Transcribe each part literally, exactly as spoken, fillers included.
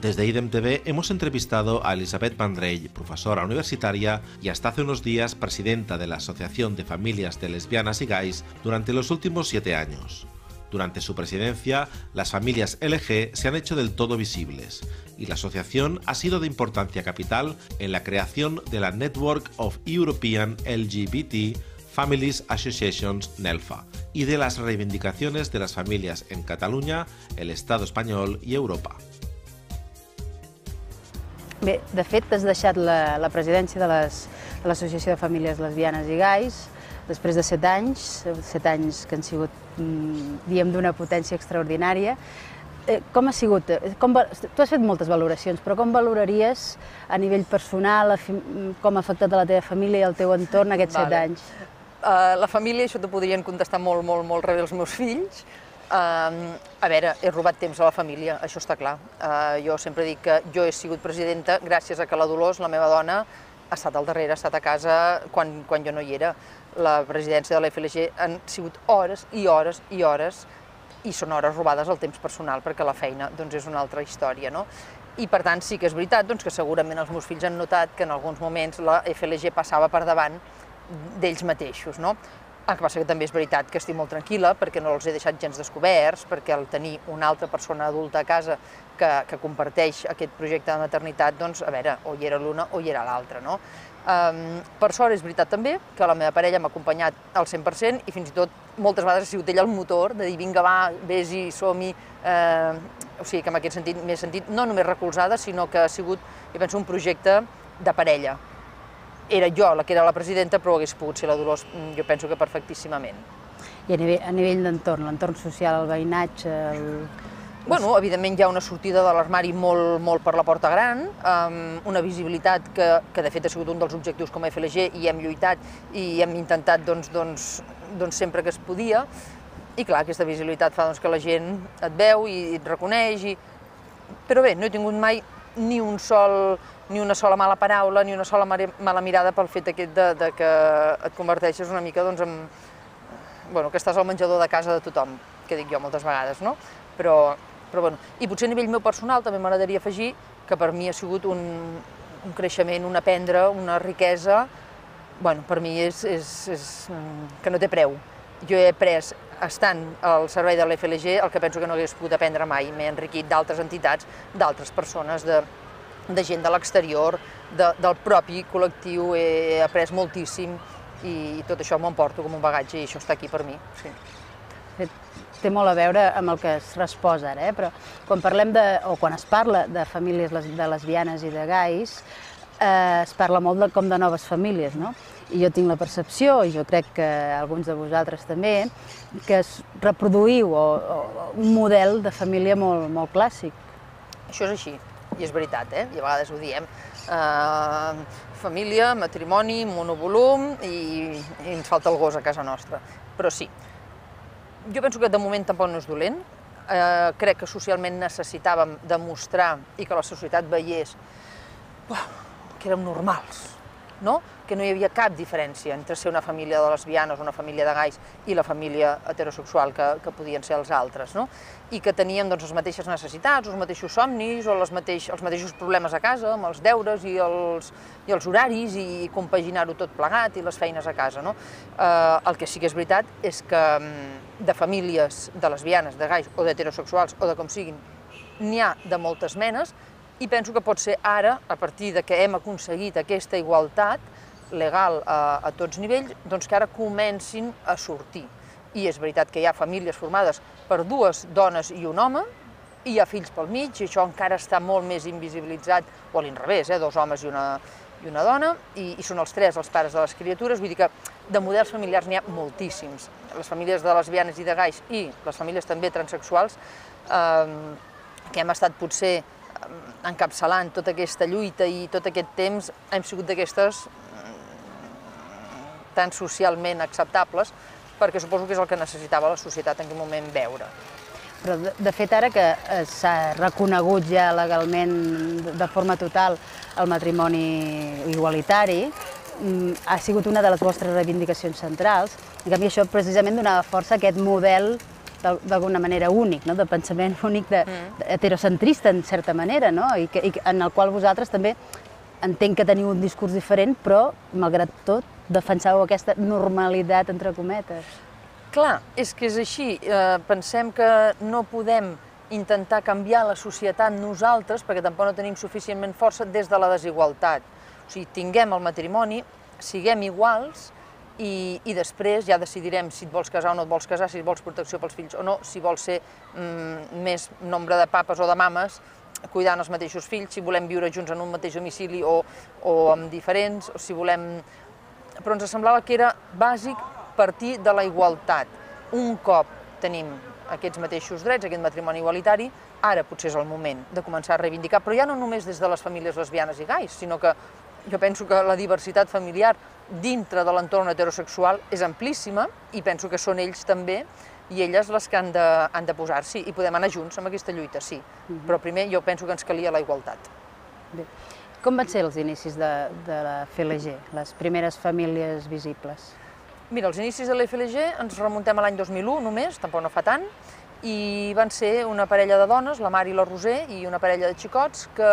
Desde IDEM T V hemos entrevistado a Elisabeth Vendrell, profesora universitaria y hasta hace unos días presidenta de la Asociación de Familias de Lesbianas y Gays durante los últimos siete años. Durante su presidencia, las familias L G se han hecho del todo visibles y la asociación ha sido de importancia capital en la creación de la Network of European L G B T Families Associations NELFA y de las reivindicaciones de las familias en Cataluña, el Estado espanyol i Europa. Bé, de fet, has deixat la, la presidència de l'Associació de Famílies Lesbianes i Gais després de set anys, set anys que han sigut, diguem, d'una potència extraordinària. Com ha sigut? Com, tu has fet moltes valoracions, però com valoraries a nivell personal, com ha afectat a la teva família i al teu entorn aquests set anys? La família, això t'ho podrien contestar molt, molt, molt rebé els meus fills. A veure, he robat temps a la família, això està clar. Jo sempre dic que jo he sigut presidenta gràcies a que la Dolors, la meva dona, ha estat al darrere, ha estat a casa quan, quan jo no hi era. La presidència de l'F L G han sigut hores i hores i hores i són hores robades al temps personal perquè la feina doncs, és una altra història. No? I per tant sí que és veritat doncs, que segurament els meus fills han notat que en alguns moments la F L G passava per davant d'ells mateixos. No? El que passa que també és veritat que estic molt tranquil·la perquè no els he deixat gens descoberts, perquè al tenir una altra persona adulta a casa que, que comparteix aquest projecte de maternitat, doncs, a veure, o hi era l'una o hi era l'altra. No? Um, per sort és veritat també que la meva parella m'ha acompanyat al cent per cent i fins i tot moltes vegades ha sigut ella el motor de dir vinga va, vés-hi, som-hi, eh, o sigui que en aquest sentit m'he sentit no només recolzada, sinó que ha sigut, jo penso, un projecte de parella. Era jo la que era la presidenta, però hagués pogut ser la Dolors, jo penso que perfectíssimament. I a nivell, a nivell d'entorn, l'entorn social, el veïnatge... El... Bueno, evidentment hi ha una sortida de l'armari molt, molt per la porta gran, um, una visibilitat que, que de fet ha sigut un dels objectius com a F L G i hem lluitat i hem intentat doncs, doncs, doncs sempre que es podia. I clar, aquesta visibilitat fa doncs, que la gent et veu i et reconeix. I... Però bé, no he tingut mai ni un sol... ni una sola mala paraula, ni una sola mala mirada pel fet aquest de, de que et converteixes una mica doncs, en... Bueno, que estàs al menjador de casa de tothom, que dic jo moltes vegades, no? Però, però bueno, i potser a nivell meu personal també m'agradaria afegir que per mi ha sigut un, un creixement, un aprendre, una riquesa, bueno, per mi és, és, és que no té preu. Jo he après, estant al servei de l'F L G, el que penso que no hagués pogut aprendre mai. M'he enriquit d'altres entitats, d'altres persones, de, de gent de l'exterior, de, del propi col·lectiu, he après moltíssim i tot això m'ho emporto com un bagatge i això està aquí per mi. Sí. Té molt a veure amb el que es resposa ara, eh? Però quan parlem de, o quan es parla de famílies de lesbianes i de gais, eh, es parla molt de, com de noves famílies, no? I jo tinc la percepció, i jo crec que alguns de vosaltres també, que es reproduïu o, o, un model de família molt, molt clàssic. Això és així, i és veritat, eh? I a vegades ho diem. Uh, família, matrimoni, monovolum i, i ens falta el gos a casa nostra. Però sí, jo penso que de moment tampoc no és dolent. Uh, crec que socialment necessitàvem demostrar i que la societat veiés uh, que érem normals, no? Que no hi havia cap diferència entre ser una família de lesbianes, una família de gais i la família heterosexual que, que podien ser els altres, no? I que teníem doncs, les mateixes necessitats, els mateixos somnis o les mateix, els mateixos problemes a casa, amb els deures i els, i els horaris i compaginar-ho tot plegat i les feines a casa, no? Eh, el que sí que és veritat és que de famílies de lesbianes, de gais o d'heterosexuals o de com siguin, n'hi ha de moltes menes i penso que pot ser ara, a partir de que hem aconseguit aquesta igualtat legal a, a tots nivells, doncs que ara comencin a sortir. I és veritat que hi ha famílies formades per dues dones i un home, i hi ha fills pel mig, i això encara està molt més invisibilitzat, o a l'inrevés, eh, dos homes i una, i una dona, i, i són els tres els pares de les criatures, vull dir que de models familiars n'hi ha moltíssims. Les famílies de lesbianes i de gais i les famílies també transexuals, eh, que hem estat potser encapçalant tota aquesta lluita i tot aquest temps, hem sigut d'aquestes tan socialment acceptables, perquè suposo que és el que necessitava la societat en aquell moment veure. Però, de, de fet, ara que s'ha reconegut ja legalment de forma total el matrimoni igualitari, ha sigut una de les vostres reivindicacions centrals. En canvi, això precisament donava força a aquest model d'alguna manera únic, no? De pensament únic, de, de heterocentrista en certa manera, no? I, que, i en el qual vosaltres també entenc que teniu un discurs diferent, però, malgrat tot, defensàveu aquesta normalitat, entre cometes. Clar, és que és així. Eh, pensem que no podem intentar canviar la societat nosaltres, perquè tampoc no tenim suficientment força, des de la desigualtat. O sigui, tinguem el matrimoni, siguem iguals, i, i després ja decidirem si et vols casar o no et vols casar, si vols protecció pels fills o no, si vols ser mm, més nombre de papes o de mames, cuidant els mateixos fills, si volem viure junts en un mateix domicili o, o amb diferents, o si volem... Però ens semblava que era bàsic partir de la igualtat. Un cop tenim aquests mateixos drets, aquest matrimoni igualitari, ara potser és el moment de començar a reivindicar, però ja no només des de les famílies lesbianes i gais, sinó que jo penso que la diversitat familiar dintre de l'entorn heterosexual és amplíssima i penso que són ells també i elles les que han de, han de posar-s'hi i podem anar junts amb aquesta lluita, sí. Uh-huh. Però primer jo penso que ens calia la igualtat. Bé. Com van ser els inicis de, de la F L G, les primeres famílies visibles? Mira, els inicis de la F L G ens remuntem a l'any dos mil u només, tampoc no fa tant, i van ser una parella de dones, la Mar i la Roser, i una parella de xicots que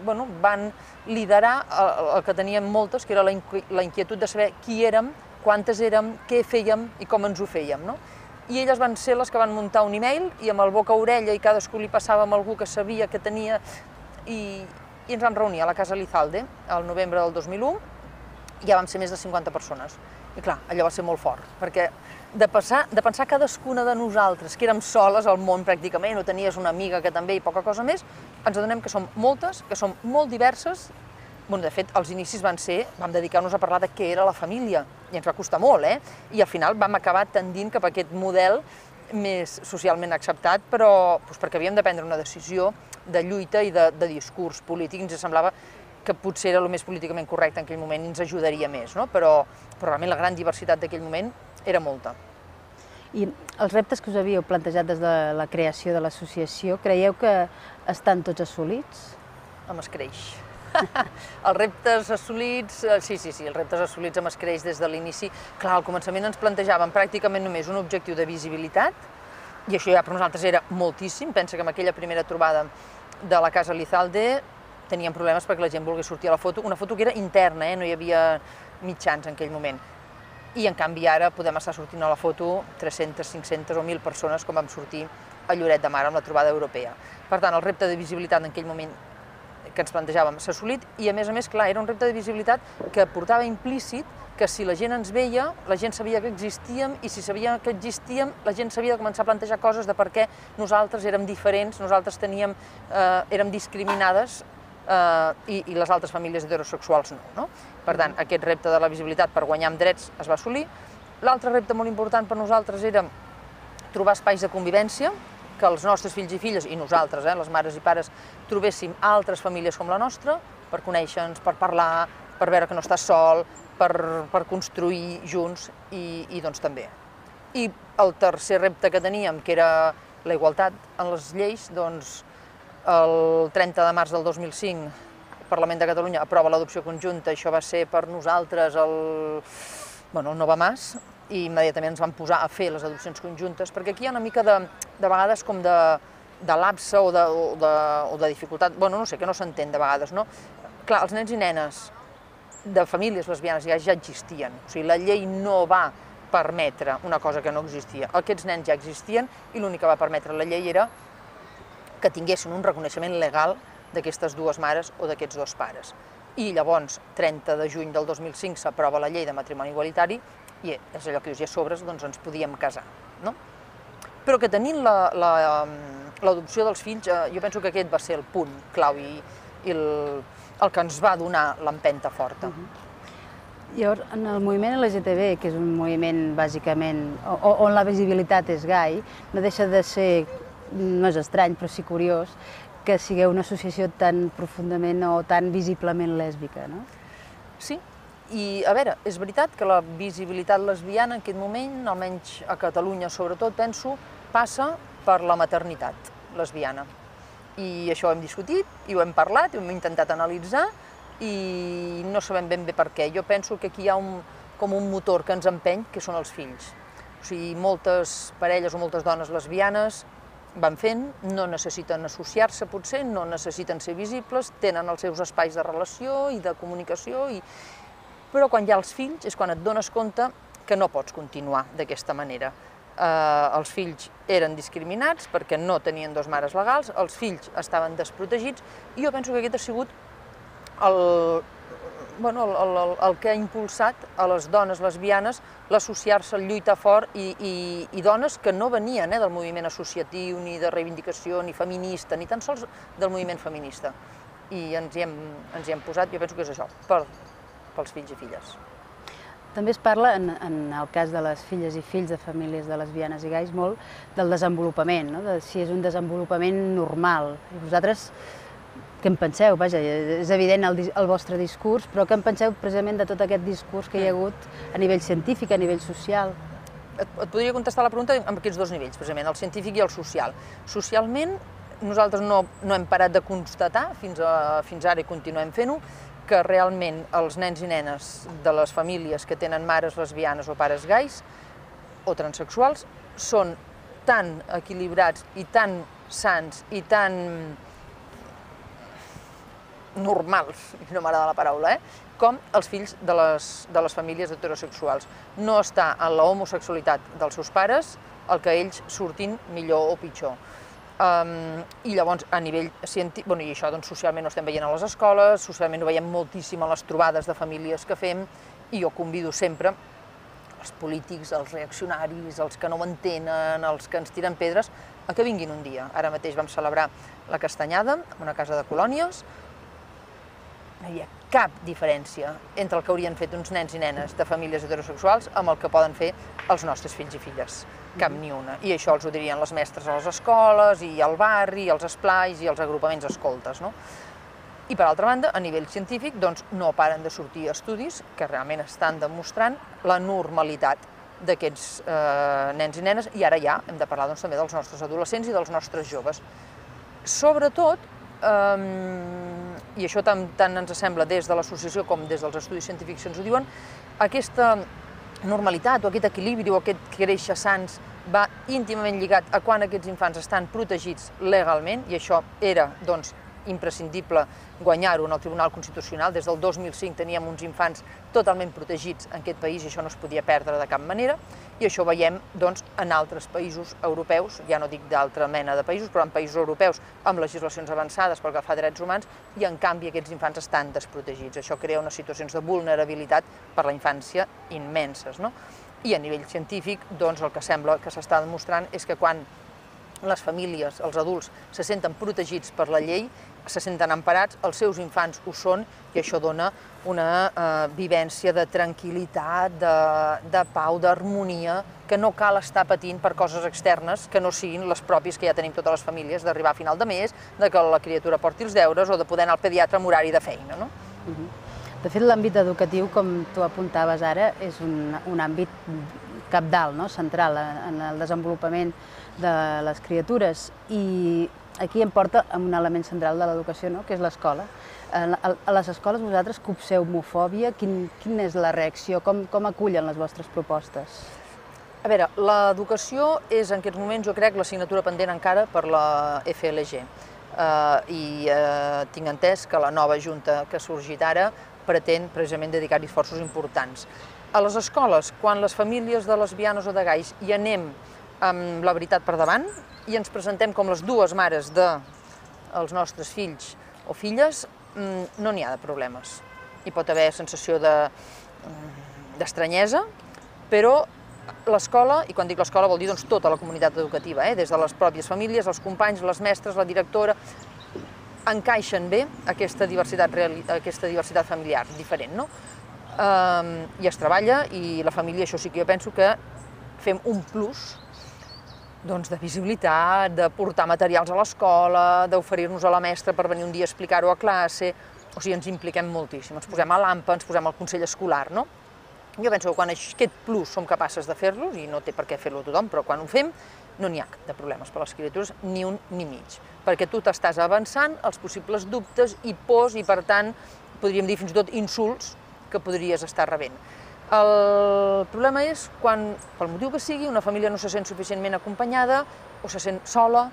bueno, van liderar el, el que teníem moltes, que era la, inqui la inquietud de saber qui érem, quantes érem, què fèiem i com ens ho fèiem. No? I elles van ser les que van muntar un e-mail i amb el boca a orella i cadascú li passava amb algú que sabia que tenia i, i ens vam reunir a la Casa Lizalde al novembre del dos mil u i ja vam ser més de cinquanta persones. I clar, allò va ser molt fort, perquè de, passar, de pensar cadascuna de nosaltres, que érem soles al món pràcticament, o tenies una amiga que també i poca cosa més, ens adonem que som moltes, que som molt diverses. Bueno, de fet, els inicis van ser, vam dedicar-nos a parlar de què era la família, i ens va costar molt, eh? I al final vam acabar tendint cap a aquest model més socialment acceptat, però doncs, perquè havíem de prendre una decisió de lluita i de, de discurs polític, ens semblava que potser era el més políticament correcte en aquell moment i ens ajudaria més, no? però, però realment la gran diversitat d'aquell moment era molta. I els reptes que us havíeu plantejat des de la creació de l'associació, creieu que estan tots assolits? Amb escreix. Els reptes assolits, sí, sí, sí, els reptes assolits amb escreix des de l'inici. Clar, al començament ens plantejàvem pràcticament només un objectiu de visibilitat, i això ja per nosaltres era moltíssim. Pensa que en aquella primera trobada de la Casa Lizalde teníem problemes perquè la gent volgués sortir a la foto, una foto que era interna, eh? No hi havia mitjans en aquell moment. I en canvi ara podem estar sortint a la foto tres-centes, cinc-centes o mil persones com vam sortir a Lloret de Mar amb la trobada europea. Per tant, el repte de visibilitat en aquell moment que ens plantejàvem s'ha assolit i a més a més, clar, era un repte de visibilitat que portava implícit que si la gent ens veia, la gent sabia que existíem i si sabia que existíem, la gent s'havia de començar a plantejar coses de per què nosaltres érem diferents, nosaltres teníem, eh, érem discriminades Uh, i, i les altres famílies heterosexuals no, no? Per tant, aquest repte de la visibilitat per guanyar amb drets es va assolir. L'altre repte molt important per nosaltres era trobar espais de convivència, que els nostres fills i filles, i nosaltres, eh, les mares i pares, trobéssim altres famílies com la nostra, per conèixer-nos, per parlar, per veure que no estàs sol, per, per construir junts i, i doncs també. I el tercer repte que teníem, que era la igualtat en les lleis, doncs el trenta de març del dos mil cinc el Parlament de Catalunya aprova l'adopció conjunta, això va ser per nosaltres el, bueno, el no va más, i immediatament ens vam posar a fer les adopcions conjuntes, perquè aquí hi ha una mica de, de vegades com de, de lapse o de, o, de, o de dificultat, bueno, no sé, que no s'entén de vegades, no? Clar, els nens i nenes de famílies lesbianes ja, ja existien, o sigui, la llei no va permetre una cosa que no existia, aquests nens ja existien i l'únic que va permetre la llei era que tinguessin un reconeixement legal d'aquestes dues mares o d'aquests dos pares. I llavors, trenta de juny del dos mil cinc, s'aprova la llei de matrimoni igualitari i és allò que dius, i a sobre doncs, ens podíem casar. No? Però que tenint l'adopció dels fills, eh, jo penso que aquest va ser el punt clau i, i el, el que ens va donar l'empenta forta. Uh-huh. Llavors, en el moviment L G T B, que és un moviment bàsicament on la visibilitat és gai, no deixa de ser, no és estrany, però sí curiós, que sigueu una associació tan profundament o tan visiblement lèsbica, no? Sí, i a veure, és veritat que la visibilitat lesbiana en aquest moment, almenys a Catalunya sobretot, penso, passa per la maternitat lesbiana. I això ho hem discutit, i ho hem parlat, i ho hem intentat analitzar, i no sabem ben bé per què. Jo penso que aquí hi ha un, com un motor que ens empeny, que són els fills. O O sigui, moltes parelles o moltes dones lesbianes van fent, no necessiten associar-se potser, no necessiten ser visibles, tenen els seus espais de relació i de comunicació, i... però quan hi ha els fills és quan et dones compte que no pots continuar d'aquesta manera. Eh, els fills eren discriminats perquè no tenien dos mares legals, els fills estaven desprotegits, i jo penso que aquest ha sigut el, bueno, el, el, el que ha impulsat a les dones lesbianes l'associar-se, el lluitar fort, i, i, i dones que no venien eh, del moviment associatiu, ni de reivindicació, ni feminista, ni tan sols del moviment feminista. I ens hi hem, ens hi hem posat, jo penso que és això, per, pels fills i filles. També es parla, en, en el cas de les filles i fills de famílies de lesbianes i gais, molt del desenvolupament, no? De si és un desenvolupament normal. I vosaltres, què en penseu? Vaja, és evident el, el vostre discurs, però què en penseu precisament de tot aquest discurs que hi ha hagut a nivell científic, a nivell social? Et, et podria contestar la pregunta amb aquests dos nivells, precisament, el científic i el social. Socialment, nosaltres no, no hem parat de constatar, fins, a, fins ara i continuem fent-ho, que realment els nens i nenes de les famílies que tenen mares lesbianes o pares gais o transexuals són tan equilibrats i tan sans i tan normals, no m'agrada la paraula, eh? com els fills de les, de les famílies heterosexuals. No està en la homosexualitat dels seus pares el que ells surtin millor o pitjor. Um, I llavors, a nivell científic, bueno, i això doncs, socialment ho estem veient a les escoles, socialment ho veiem moltíssim a les trobades de famílies que fem, i jo convido sempre els polítics, els reaccionaris, els que no ho entenen, els que ens tiren pedres, a que vinguin un dia. Ara mateix vam celebrar la Castanyada en una casa de colònies. No hi ha cap diferència entre el que haurien fet uns nens i nenes de famílies heterosexuals amb el que poden fer els nostres fills i filles. Cap ni una. I això els ho dirien les mestres a les escoles, i al barri, i als esplais, i als agrupaments escoltes, no? I per altra banda, a nivell científic, doncs no paren de sortir estudis que realment estan demostrant la normalitat d'aquests eh, nens i nenes, i ara ja hem de parlar doncs, també dels nostres adolescents i dels nostres joves. Sobretot, eh, i això tant, tant ens sembla des de l'associació com des dels estudis científics que ens ho diuen, aquesta normalitat o aquest equilibri o aquest créixer sans va íntimament lligat a quan aquests infants estan protegits legalment, i això era doncs, imprescindible guanyar-ho en el Tribunal Constitucional. Des del dos mil cinc teníem uns infants totalment protegits en aquest país i això no es podia perdre de cap manera, i això ho veiem doncs, en altres països europeus, ja no dic d'altra mena de països, però en països europeus amb legislacions avançades pel que fa a drets humans, i en canvi aquests infants estan desprotegits. Això crea unes situacions de vulnerabilitat per la infància immenses, no? I a nivell científic, doncs, el que sembla que s'està demostrant és que quan les famílies, els adults, se senten protegits per la llei, se senten emparats, els seus infants ho són, i això dona una eh, vivència de tranquil·litat, de, de pau, d'harmonia, que no cal estar patint per coses externes que no siguin les pròpies que ja tenim totes les famílies, d'arribar a final de mes, de que la criatura porti els deures o de poder anar al pediatre amb horari de feina, no? Uh-huh. De fet, l'àmbit educatiu, com tu apuntaves ara, és un, un àmbit cabdal, no? Central en el desenvolupament de les criatures, i aquí em porta a un element central de l'educació, no? Que és l'escola. A les escoles vosaltres copseu homofòbia, quin, quina és la reacció, com, com acullen les vostres propostes? A veure, l'educació és en aquests moments, jo crec, l'assignatura pendent encara per la F L G, uh, i uh, tinc entès que la nova junta que ha sorgit ara pretén precisament dedicar-hi esforços importants. A les escoles, quan les famílies de lesbianes o de gais hi anem amb la veritat per davant i ens presentem com les dues mares dels nostres fills o filles, no n'hi ha de problemes. Hi pot haver sensació d'estranyesa, però l'escola, i quan dic l'escola vol dir doncs, tota la comunitat educativa, eh? Des de les pròpies famílies, els companys, les mestres, la directora, encaixen bé aquesta diversitat, aquesta diversitat familiar diferent, no? Um, i es treballa, i la família, això sí que jo penso que fem un plus doncs, de visibilitat, de portar materials a l'escola, d'oferir-nos a la mestra per venir un dia a explicar-ho a classe, o sigui, ens impliquem moltíssim, ens posem a l'AMPA, ens posem al Consell Escolar, no? Jo penso que quan aquest plus som capaces de fer-los, i no té per què fer-lo tothom, però quan ho fem no n'hi ha de problemes per a les criatures, ni un ni mig, perquè tu t'estàs avançant els possibles dubtes i pors, i per tant, podríem dir fins i tot insults que podries estar rebent. El problema és quan, pel motiu que sigui, una família no se sent suficientment acompanyada o se sent sola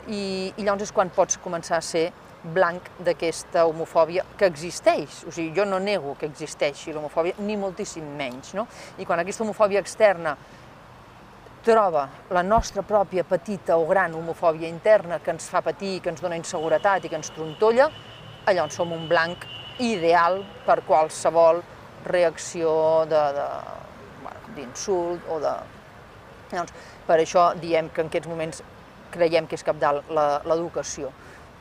i, i llavors és quan pots començar a ser blanc d'aquesta homofòbia que existeix. O sigui, jo no nego que existeixi l'homofòbia, ni moltíssim menys, no? I quan aquesta homofòbia externa troba la nostra pròpia petita o gran homofòbia interna que ens fa patir, que ens dona inseguretat i que ens trontolla, llavors som un blanc ideal per qualsevol reacció d'insult o de... Llavors, per això diem que en aquests moments creiem que és cabdal l'educació.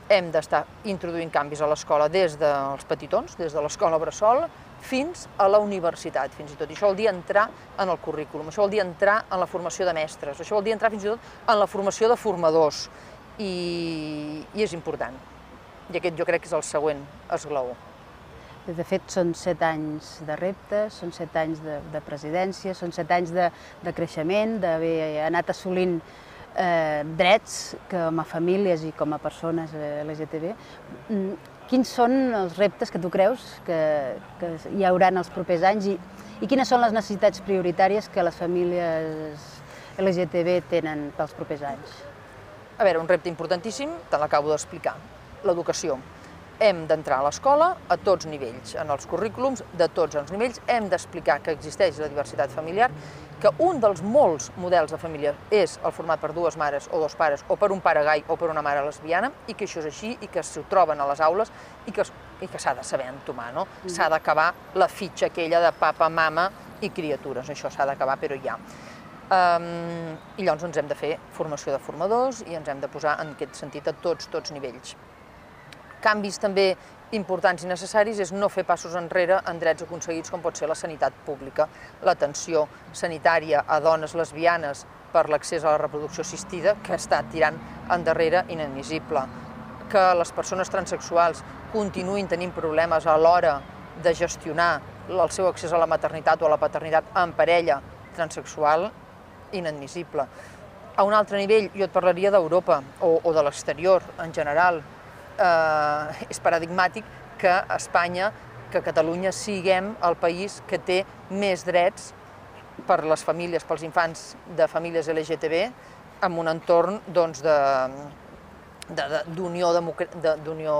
Hem d'estar introduint canvis a l'escola des dels petitons, des de l'escola bressol, fins a la universitat, fins i tot. I això vol dir entrar en el currículum, això vol dir entrar en la formació de mestres, això vol dir entrar fins i tot en la formació de formadors. I, i és important. I aquest jo crec que és el següent esglaó. De fet, són set anys de reptes, són set anys de, de presidència, són set anys de, de creixement, d'haver anat assolint eh, drets com a famílies i com a persones L G T B. Quins són els reptes que tu creus que, que hi haurà en els propers anys i, i quines són les necessitats prioritàries que les famílies L G T B tenen pels propers anys? A veure, un repte importantíssim, te l'acabo d'explicar, l'educació. Hem d'entrar a l'escola a tots nivells, en els currículums de tots els nivells, hem d'explicar que existeix la diversitat familiar, que un dels molts models de família és el format per dues mares o dos pares, o per un pare gai o per una mare lesbiana, i que això és així, i que s'ho troben a les aules, i que, i que s'ha de saber entomar, no? Mm. S'ha d'acabar la fitxa aquella de papa, mama i criatures, això s'ha d'acabar, però ja. Um, I llavors ens hem de fer formació de formadors i ens hem de posar en aquest sentit a tots, tots nivells. Canvis també importants i necessaris és no fer passos enrere en drets aconseguits com pot ser la sanitat pública, l'atenció sanitària a dones lesbianes per l'accés a la reproducció assistida, que està tirant endarrere inadmissible, que les persones transsexuals continuïn tenint problemes a l'hora de gestionar el seu accés a la maternitat o a la paternitat en parella transsexual, inadmissible. A un altre nivell, jo et parlaria d'Europa o, o de l'exterior en general. Eh, és paradigmàtic que Espanya, que Catalunya siguem el país que té més drets per les famílies, pels infants de famílies L G T B, en un entorn doncs, d'Unió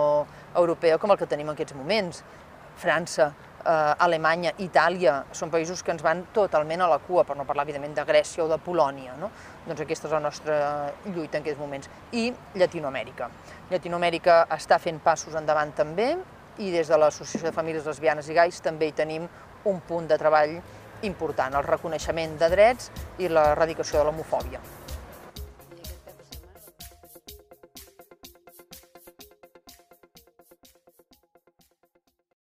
Europea com el que tenim en aquests moments. França, eh, Alemanya, Itàlia, són països que ens van totalment a la cua, per no parlar, evidentment, de Grècia o de Polònia, no? Doncs aquesta és la nostra lluita en aquests moments. I Llatinoamèrica. Llatinoamèrica està fent passos endavant també, i des de l'Associació de Famílies Lesbianes i Gais també hi tenim un punt de treball important, el reconeixement de drets i l'erradicació de l'homofòbia.